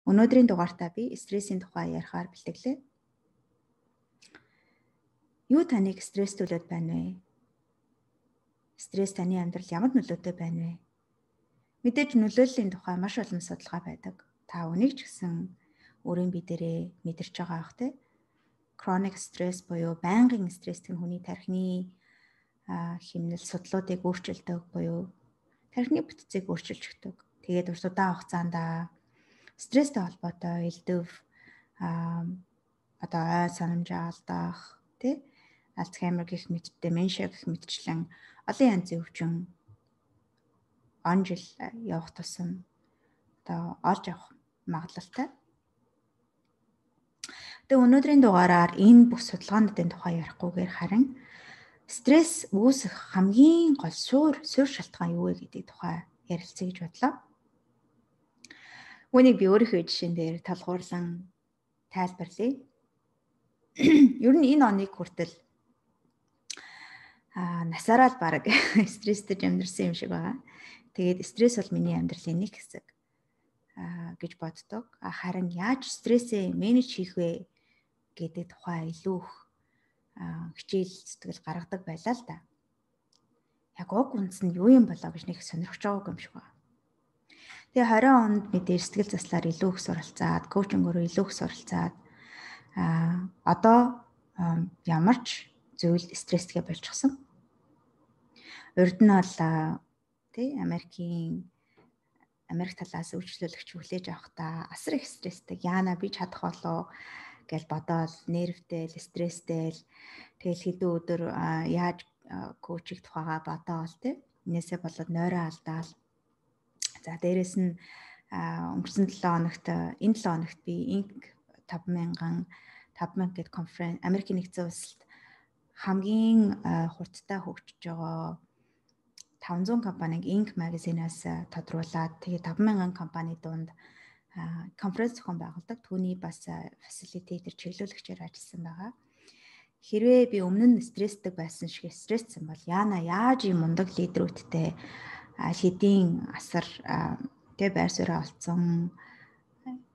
Өнөөдрийн дугаартаа би стрессийн тухай ярихаар бэлтгэлээ. Юу таныг стресстүүлээд байна вэ? Стресс таны амьдралд ямар нөлөөтэй байна вэ? Мэдээж нөлөөллийн тухай маш олон судалгаа байдаг. Та үнийг ч гэсэн өөрийн бие дээрээ мэдэрч байгаа бах те. Chronic stress буюу байнгын стресс гэх нь хүний тархины хэмнэл судлуудыг өөрчилдөг буюу тархины бүтцийг өөрчилж өгдөг. Тэгээд удаан хугацаанд стресстэй холбоотой элдэв одоо ой санамжаа алдах тий Альцгеймер гэх мэт деменшиа гэх мэтчлэн олон янзын өвчин он жил явах тусам одоо олж авах магадлалтай. Тэгээ өнөөдрийн дугаараар энэ бүх судалгаануудын тухай ярихгүйгээр харин стресс үүсэх хамгийн гол суурь шалтгаан юу вэ гэдэг тухай ярилцъя гэж бодлоо. Үүнийг би өөрийнхөө жишээн дээр талгуурлан тайлбарлая. Ер нь энэ оныг хүртэл насаараа л баг стресстэй амьдрсан юм шиг байгаа. Тэгээд стресс бол миний амьдралын нэг хэсэг гэж боддог. Харин яаж стрессээ менеж хийх вэ гэдэг тухай илүү их хичээл зүтгэл гаргадаг байлаа л да. Яг уг үндэс нь юу юм болоо гэж нэг сонирхож байгаагүй юм шиг байна. Тэгээ 20 онд мэдээ сэтгэл заслаар илүү их суралцаад, коучингоор илүү их суралцаад одоо ямар ч зүйл стресстэй болчихсон. Урд нь бол Америк талаас үйлчлүүлэгч хүлээж авахдаа асар их стресстэй. Яана би чадах болоо гэж бодоод нервтэй, стресстэй. Тэгэл хэдэн өдөр яаж коучиг тухайгаа бодоол энээсээ болоод нойроо алдаал. За дээрэс нь өнгөрсөн 7 хоногт энэ 7 хоногт би Inc 5000 гэдэг конференц Америкийн нэгдсэн улсад хамгийн хурдтай хөгжиж байгаа 500 компаниг Inc магазинаас тодруулаад тэгээ 5000 компани дунд конференц зохион байгуулдаг. Түүний бас фасилитатор чиглүүлэгчээр ажилласан байгаа. Хэрвээ би өмнө нь стресстэй байсан шиг стресссэн бол яана яаж ийм мундаг лидерүүдтэй хэдийн асар байр сууриа олцсон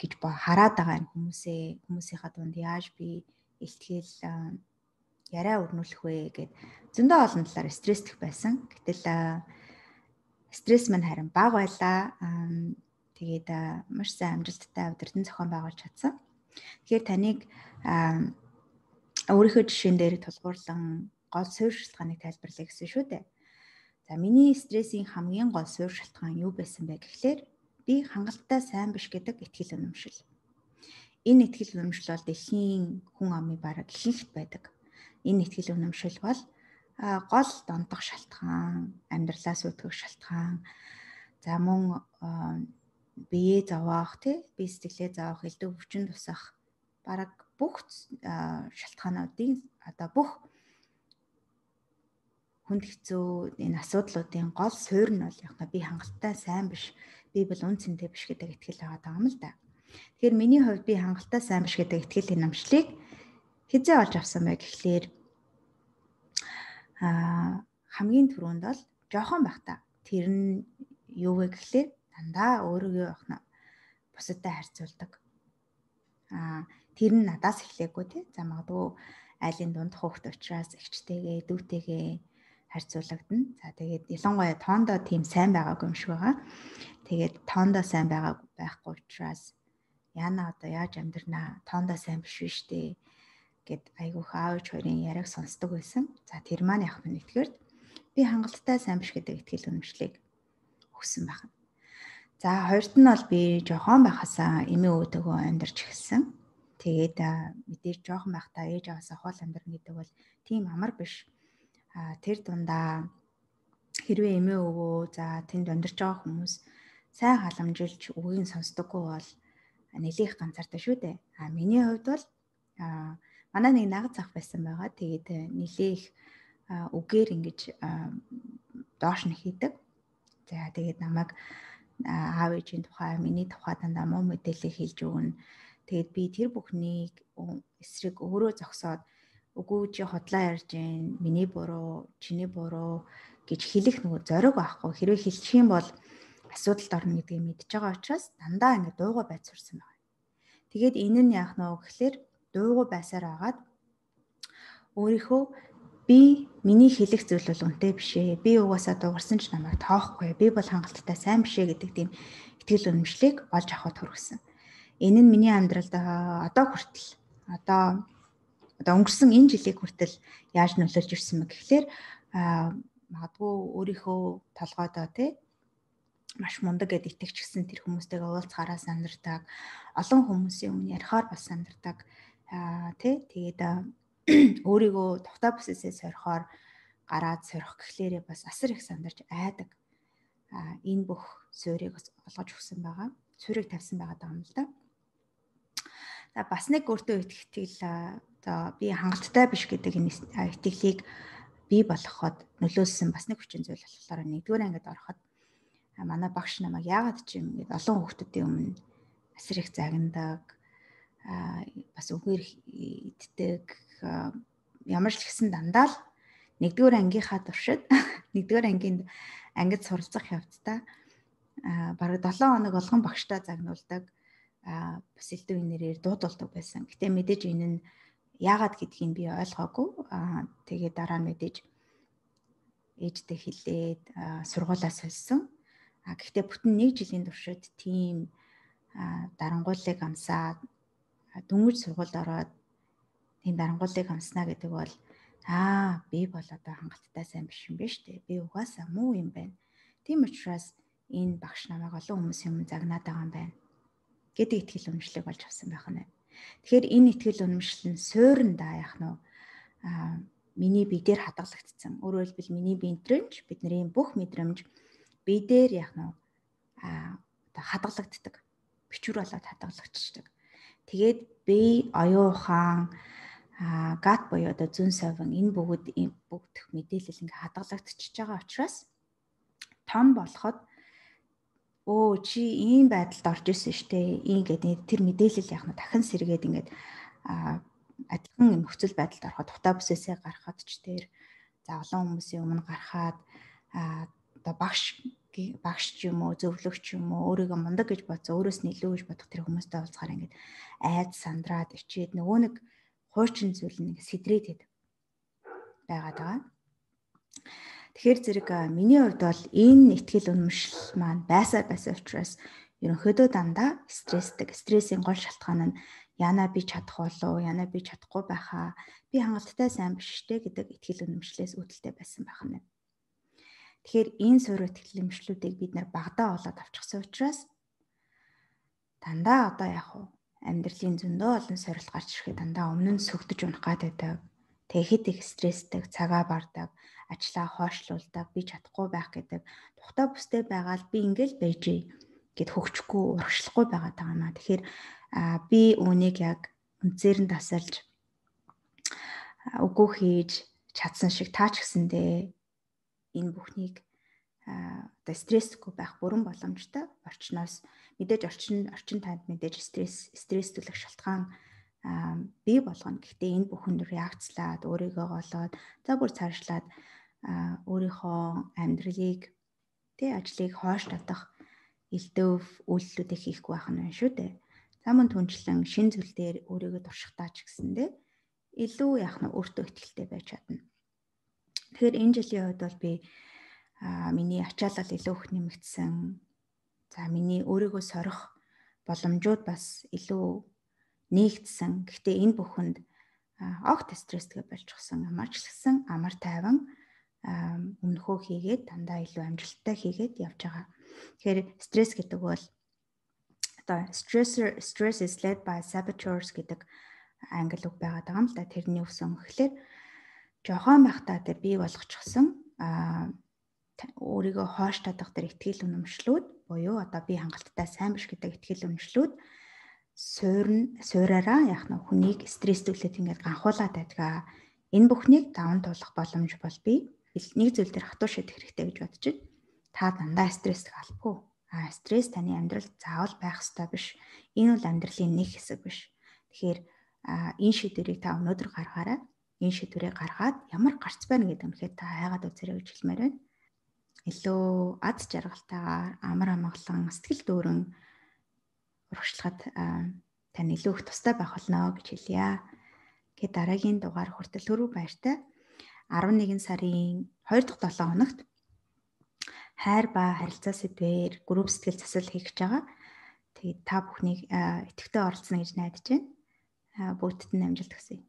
гэж хараад байгаа юм хүмүүсийнхаа дунд яаж би илтгэл яриа өрнүүлэх вэ гэд зөндөө олон талаар стресстэх байсан. Гэтэл стресс мань харин бага байлаа. Тэгээд маш сайн амжилттай удирдан зохион байгуулж чадсан. Тэгэхээр таныг өөрийнхөө жишээн дээр тулгуурлан гол суурь шалтгааныг тайлбарлая гэсэн шүү дээ. За миний стрессийн хамгийн гол суурь шалтгаан юу байсан бэ гэхлээр би хангалттай сайн биш гэдэг итгэл үнэмшил. Энэ итгэл үнэмшил бол дэлхийн хүн амын бараг ихэнхд байдаг. Энэ итгэл үнэмшил бол гол дондох шалтгаан, амьдралаас үүдгэх шалтгаан. За мөн биеэ зовоох, бие сэтгэлээ зовоох, элдв өвчин тусах бараг бүх шалтгаануудын одоо бүх хүнд хэцүү энэ асуудлуудын гол суурь нь бол яг би хангалттай сайн биш, би бол үн цэнтэй биш гэдэг итгэл байгаа юм л да. Тэгэхээр миний хувьд би хангалттай сайн биш гэдэг итгэл үнэмшлийг хизээ олж авсан бай гэхлээр хамгийн түрүүнд бол жоохон байхдаа тэр нь юу вэ гэхлээр дандаа өөрийгөө бусадтай харьцуулдаг. Тэр нь надаас эхлэегүй За магадгүй айлын дунд хөөхт учраас эгчтэйгээ, дүүтэйгээ харьцуулагдана. За тэгээд ялангуяа тоондоо тийм сайн байгаагүй юм шиг байгаа. Тэгээд тоондоо сайн байхгүй учраас яана одоо яаж амьдрнаа? Тоондоо сайн биш штэ гэд айгүйх аавч хоёрын яриаг сонсдог байсан. За тэр маань яг нэгтгэрд би хангалттай сайн биш гэдэг итгэл үнэмшлийг өгсөн байна. За хоёрт нь бол би жоохон байхасаа эмээ өвдөгөө амьдарч эхэлсэн. Тэгээд мэдээж жоохон байхдаа ээж аваасаа хол амьдрна гэдэг бол тийм амар биш. Тэр дундаа хэрвээ эмээ өвөө тэнд амьдарч байгаа хүмүүс сайн халамжилж үгийг сонсдоггүй бол нэлээх ганцаартай шүү дээ. Миний хувьд бол манай нэг нагц ах байсан байгаа. Тэгээд нэлээх үгээр ингэж доош нь хийдэг. За тэгээд намайг аав ээжийн тухай, миний тухай дандаа муу мэдээлэл хэлж өгнө. Тэгээд би тэр бүхнийг эсрэг өөрөө зогсоод үгүй чи хотлоо ярьж гин, миний буруу, чиний буруу гэж хэлэх нөгөө зориг байхгүй. Хэрвээ хэлчих юм бол асуудалд орно гэдгийг мэдж байгаа учраас дандаа ингэ дуугаа байд сурсан байна. Тэгээд энэ нь яах нь вэ гэхээр дуугүй байсаар агаад өөрийнхөө би миний хэлэх зүйл бол үнэтэй биш ээ. Би угаасаа дуугарсан ч намайг тоохгүй. Би бол хангалттай сайн биш ээ гэдэг тийм итгэл үнэмшлийг олж авахд хүргэсэн. Энэ нь миний амьдралд одоо хүртэл одоо өнгөрсөн энэ жилийн хүртэл яаж нөлөөлж ирсэн бэ гэхээр магадгүй өөрийнхөө толгойдоо тий маш мундаг гэд итгэжсэн тэр хүмүүстэйгээ уулзахаараа сандардаг, олон хүмүүсийн өмнө ярихаар бас сандардаг тий тэгээд өөрийгөө тухтай бүсээсээ сорихоор гараад сорих гэхлээрээ бас асар их сандарч айдаг. Энэ бүх суурийг олгож өгсөн байгаа. Суурийг тавьсан байгаа юм л да. За бас нэг өөртөө итгэл би хангалттай биш гэдэг энэ итгэлийг бий болгоход нөлөөлсөн бас нэг хүчин зүйл болохоор нэгдүгээр ангид ороход манай багш намайг яагаад ч юм ингээд олон хүүхдүүдийн өмнө асар их загнадаг, бас үгээр иддэг, ямар ч гэсэн дандаа л нэгдүгээр ангийнхаа туршид нэгдүгээр ангид суралцах явцдаа бараг 7 хоног болгон багштай загнуулдаг, бас элдв нэрээр дуудулдаг байсан. Гэтэ мэдээж энэ нь яагаад гэдгийг би ойлгоогүй. Тэгээд дараа нь мэдээж ээжтэй хэлээд сургуулаа сольсон. Гэхдээ бүтэн 1 жилийн туршид тийм дарангуулыг амсаад дөнгөж сургуульд ороод тийм дарангуулыг амснаа гэдэг бол би бол одоо хангалттай сайн биш юм биш үү? Би угаасаа муу юм байна. Тийм учраас энэ багш намайг олон хүмүүсийн өмнө загнаад байгаа юм байна гэдэг итгэл үнэмшлийг болж авсан байх нь. Тэгэхээр энэ итгэл үнэмшил нь суурьндаа яах нь миний бие дээр хадгалагдсан. Өөрөөр хэлбэл миний биедрэмж, бидний бүх мэдрэмж бие дээр яах нь хадгалагддаг. Бичвэр болоод хадгалагдчихдаг. Тэгээд би оюун ухаан гат буюу одоо зүн совин энэ бүгд мэдээлэл ингээ хадгалагдчихж байгаа учраас том болоход чи ийм байдалд орж исэн штэ ингээд тэр мэдээлэл яах нь дахин сэргээд ингээд адилхан нөхцөл байдалд ороход тухтай бүсээсээ гарахад ч тэр олон хүмүүсийн өмнө гарахад одоо багш ч юм уу зөвлөгч юм уу өөрийгөө мундаг гэж бодсон өөрөөс нь илүү гэж бодох тэр хүмүүстэй уулзахаар ингээд айд сандраад ичээд нөгөө нэг хуучин зүйл нэг сэдрээд байгаад байгаа. Тэгэхээр зэрэг миний хувьд бол энэ итгэл үнэмшил маань байсан учраас ерөнхийдөө дандаа стресстэй. Стрессийн гол шалтгаан нь яна би чадах болов, яна би чадахгүй байхаа, би хангалттай сайн биш штэ гэдэг итгэл үнэмшлээс үүдэлтэй байсан байх нь. Тэгэхээр энэ суурь итгэл үнэмшлүүдийг бид нар багадаа олоод авчихсан учраас дандаа одоо яг амьдралын зөндөө олон сорилт гарч ирэхэд дандаа өмнө нь сөгдөж унах гад байдаг. Тэгэхэд их стресстэй, цагаа бардаг, ажлаа хойшлуулдаг, би чадахгүй байх гэдэг. Тухтай бүстэй байгаад би ингээл байжээ гэд хөгжихгүй, урагшлахгүй байгаад байгаа маа. Тэгэхээр би үүнийг яг үнцээр нь тасалж үгүй хийж чадсан шиг таач гэсэндээ энэ бүхнийг одоо стрессгүй байх бүрэн боломжтой. Орчноос мэдээж орчин танд мэдээж стресс төлөх шалтгаан бий болгоно. Гэхдээ энэ бүхэнд реакцлаад өөрийгөө голоод за бүр цаашлаад өөрийнхөө амьдралыг ажлыг хойш татах элдв үйлдэлүүдийг хийхгүй байх нь шүү дээ. Замун түнчлэн шин зүйл дээр өөрийгөө туршихтаач гэсэндээ илүү яах нь өөртөө ихтэй байж чадна. Тэгэхээр энэ жилийн хувьд бол би миний ачаалал илүү их нэмэгдсэн. За миний өөрийгөө сорих боломжууд бас илүү нэгдсэн. Гэхдээ энэ бүхэнд огт стресстэй болчихсон. Амарчлсан, амар тайван өмнөхөө хийгээд дандаа илүү амжилттай хийгээд явж байгаа. Тэгэхээр стресс гэдэг бол одоо stress is led by saboteurs гэдэг англи үг байгаад байгаа юм л да. Тэрний үсэн гэхэлэр жохон байхдаа тэр бий болгочихсон өөрийгөө хоош татах тэр итгэл үнэмшлүүд буюу одоо би хангалттай сайн биш гэдэг итгэл үнэмшлүүд суураараа яах нь хүнийг стресстүүлээд ингээд ганхуулаад байдаг. Энэ бүхнийг даван туулах боломж бол би нэг зүйл дээр хатуу шийдэх хэрэгтэй гэж бодож байна. Та дандаа стресстэй албагүй. Стресс таны амьдралд заавал байх ёстой биш. Энэ бол амьдралын нэг хэсэг биш. Тэгэхээр энэ шийдвэрийг та өнөөдөр гаргаарай. Энэ шийдвэрийг гаргаад ямар гарц байна гэдэг үнэхээр та хайгаад үзээрэй гэж хэлмээр байна. Илүү аз жаргалтайгаар амар амгалан сэтгэл дүүрэн урагшлахад тань илүү их тустай байх болно гэж хэлье. Гэт дараагийн дугаар хүртэл түрүү баяртай. 11 сарын 2 дахь 7 хоногт хайр ба харилцаа сэдвээр групп сэтгэл засал хийх гэж байгаа. Тэгээд та бүхнийг идэвхтэй оролцоно гэж найдаж байна. Бүгдд нь амжилт хүсье.